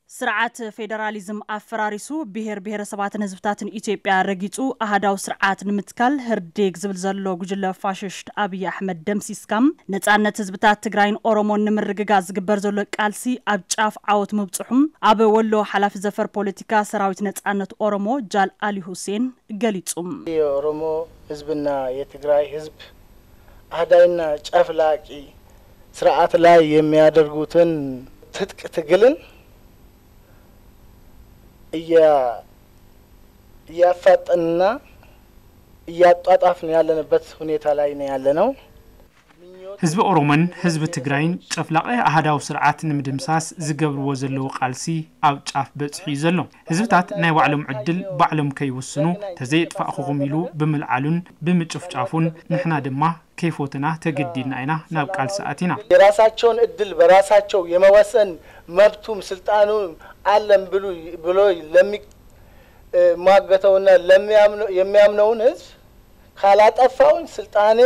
ስርዓት ፌደራሊዝም ኣፈራሪሱ ብሄር ብሄረሰባትን ህዝብታትን ኢትዮጵያ ረጊጹ ኣሃዳዊ ስርዓት ንምትካል ህርዴግ ዝብል ዘሎ ጉጅለ ፋሽስት ኣብይ ኣሕመድ ደምሲስካም ነጻነት ህዝብታት ትግራይን ኦሮሞን ንምርግጋጽ ዝግበር ዘሎ ቃልሲ ኣብ ጫፍ ዓወት ምብጽሑም ኣብ ወሎ ሓላፊ ዘፈር ፖለቲካ ሰራዊት ነጻነት ኦሮሞ ጃል ኣሊ ሁሴን ገሊጹ። የኦሮሞ ህዝብና የትግራይ ህዝብ አህዳይና ጨፍላቂ ስርዓት ላይ የሚያደርጉትን ትጥቅ ትግልን እያ እያፋጠንና እያጧጣፍን ያለንበት ሁኔታ ላይ ነው ያለነው። ህዝቢ ኦሮሞን ህዝቢ ትግራይን ጨፍላቂ ኣሃዳዊ ስርዓት ንምድምሳስ ዝገብርዎ ዘለዉ ቃልሲ ኣብ ጫፍ በፂሑ እዩ ዘሎ። ህዝብታት ናይ ባዕሎም ዕድል ባዕሎም ከይውስኑ ተዘየጥፋእኹኹም ኢሉ ብምልዓሉን ብምጭፍጫፉን ንሕና ድማ ከይፎትና ተገዲድና ኢና ናብ ቃልሲ ኣቲና። የራሳቸውን እድል በራሳቸው የመወሰን መብቱም ስልጣኑ አለን ብሎ ለሚሟገተውና የሚያምነውን ህዝብ ካላጠፋውኝ ስልጣኔ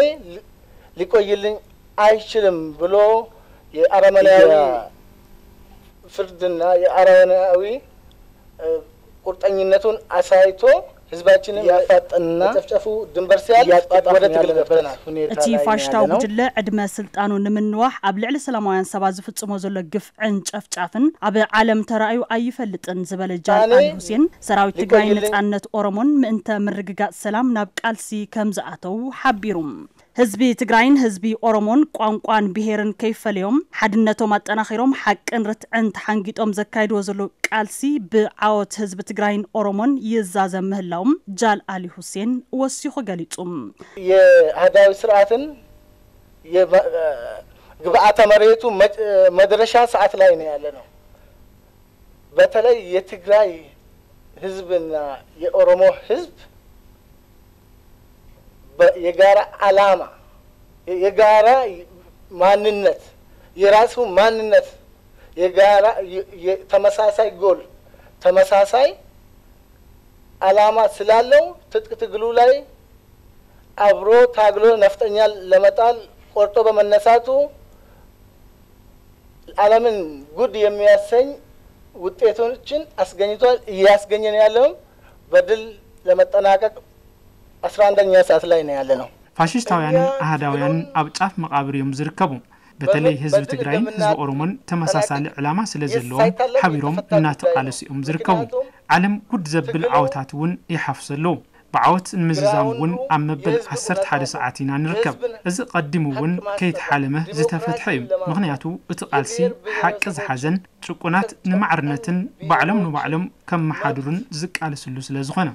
ሊቆይልኝ አይችልም ብሎ የአረመናዊ ፍርድና የአረመናዊ ቁርጠኝነቱን አሳይቶ ህዝባችንን ያፋጠንና ጨፍጨፉ ድንበር ሲያል ወደ ትግል ገብተናል። እቲ ፋሽስታዊ ጉጅለ ዕድመ ስልጣኑ ንምንዋሕ ኣብ ልዕሊ ሰላማውያን ሰባት ዝፍጽሞ ዘሎ ግፍዕን ጨፍጫፍን ኣብ ዓለም ተራእዩ ኣይፈልጥን ዝበለ ጃል ኣሊ ሁሴን ሰራዊት ትግራይ ነጻነት ኦሮሞን ምእንተ ምርግጋጽ ሰላም ናብ ቃልሲ ከም ዝኣተው ሓቢሩ። ህዝቢ ትግራይን ህዝቢ ኦሮሞን ቋንቋን ብሄርን ከይፈለዮም ሓድነቶም ኣጠናኺሮም ሓቅን ርትዕን ተሓንጊጦም ዘካይድዎ ዘለዉ ቃልሲ ብዓወት ህዝቢ ትግራይን ኦሮሞን ይዛዘም ምህላዎም ጃል ኣሊ ሁሴን ወሲኹ ገሊጹ። የአህዳዊ ስርዓትን ግብዓተ መሬቱ መድረሻ ሰዓት ላይ ነው ያለ ነው። በተለይ የትግራይ ህዝብና የኦሮሞ ህዝብ የጋራ አላማ የጋራ ማንነት የራሱ ማንነት የጋራ ተመሳሳይ ጎል ተመሳሳይ አላማ ስላለው ትጥቅ ትግሉ ላይ አብሮ ታግሎ ነፍጠኛ ለመጣል ቆርጦ በመነሳቱ ዓለምን ጉድ የሚያሰኝ ውጤቶችን አስገኝቷል። እያስገኘን ያለውም በድል ለመጠናቀቅ አስራ አንደኛ ሰዓት ላይ ነው ያለ ነው። ፋሽስታውያንን ኣህዳውያንን ኣብ ጫፍ መቓብር እዮም ዝርከቡ። በተለይ ህዝቢ ትግራይን ህዝቢ ኦሮሞን ተመሳሳሊ ዕላማ ስለ ዘለዎም ሓቢሮም እናተቃለሱ እዮም ዝርከቡ። ዓለም ጉድ ዘብል ዓወታት እውን ይሓፍሱ ኣለዉ። ብዓወት ንምዝዛም እውን ኣብ መበል ዓሰርተ ሓደ ሰዓት ኢና ንርከብ። እዚ ቀዲሙ እውን ከይተሓለመ ዝተፈትሐ እዩ። ምኽንያቱ እቲ ቃልሲ ሓቂ ዝሓዘን ጭቁናት ንማዕርነትን ባዕሎም ንባዕሎም ከመሓድሩን ዝቃለስሉ ስለ ዝኾነ።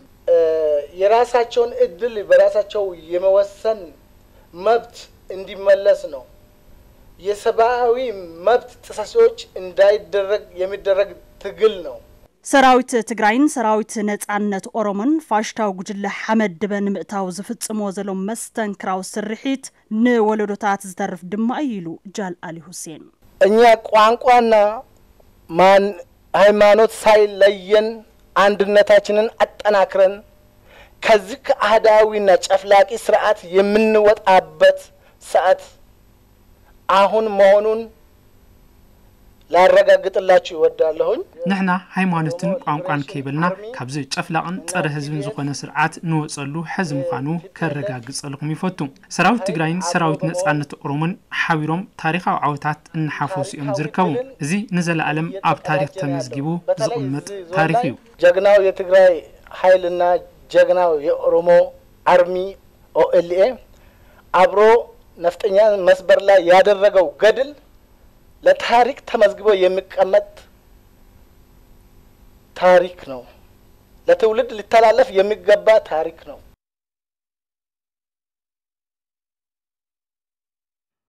የራሳቸውን እድል በራሳቸው የመወሰን መብት እንዲመለስ ነው። የሰብአዊ መብት ጥሰቶች እንዳይደረግ የሚደረግ ትግል ነው። ሰራዊት ትግራይን ሰራዊት ነጻነት ኦሮሞን ፋሽስታዊ ጉጅለ ሓመድ ድበ ንምእታው ዝፍጽምዎ ዘለዉ መስተንክራዊ ስርሒት ንወለዶታት ዝተርፍ ድማ እዩ ኢሉ ጃል ኣሊ ሁሴን። እኛ ቋንቋና ማን ሃይማኖት ሳይለየን አንድነታችንን አጠናክረን ከዚህ ከአህዳዊና ጨፍላቂ ስርዓት የምንወጣበት ሰዓት አሁን መሆኑን ላረጋግጥላችሁ እወዳለሁኝ። ንሕና ሃይማኖትን ቋንቋን ከይበልና ካብዚ ጨፍላቕን ጸረ ህዝብን ዝኾነ ስርዓት ንወጸሉ ሕዚ ምዃኑ ከረጋግጸልኹም ይፈቱ። ሰራዊት ትግራይን ሰራዊት ነጻነት ኦሮሞን ሓቢሮም ታሪኻዊ ዓወታት እናሓፈሱ እዮም ዝርከቡ። እዚ ንዘለኣለም ኣብ ታሪኽ ተመዝጊቡ ዝቕመጥ ታሪኽ እዩ። ጀግናው የትግራይ ኃይልና ጀግናው የኦሮሞ አርሚ ኦኤልኤ አብሮ ነፍጠኛ መስበር ላይ ያደረገው ገድል ለታሪክ ተመዝግቦ የሚቀመጥ ታሪክ ነው። ለትውልድ ሊተላለፍ የሚገባ ታሪክ ነው።